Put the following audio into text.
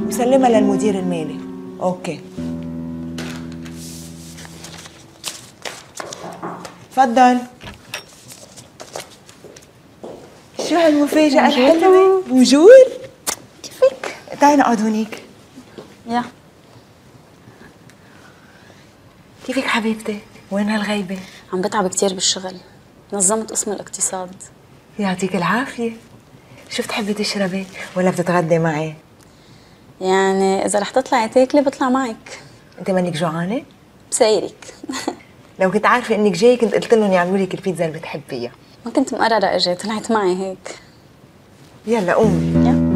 مسلمها للمدير المالي. اوكي تفضل. شو هالمفاجأة الحلوة؟ موجود؟ كيفك؟ تعي نقعد هونيك. يا كيفك حبيبتي؟ وين هالغيبة؟ عم بتعب كتير بالشغل، نظمت قسم الاقتصاد. يعطيك العافية. شو بتحبي تشربي ولا بتتغدي معي؟ يعني إذا رح تطلعي تاكلي بطلع معك. انت مانك جوعانة؟ بسايرك. لو كنت عارفة انك جاي كنت قلت لهم يعملوا لك البيتزا اللي بتحبيها. ما كنت مقررة اجي، طلعت معي هيك. يلا قومي. يا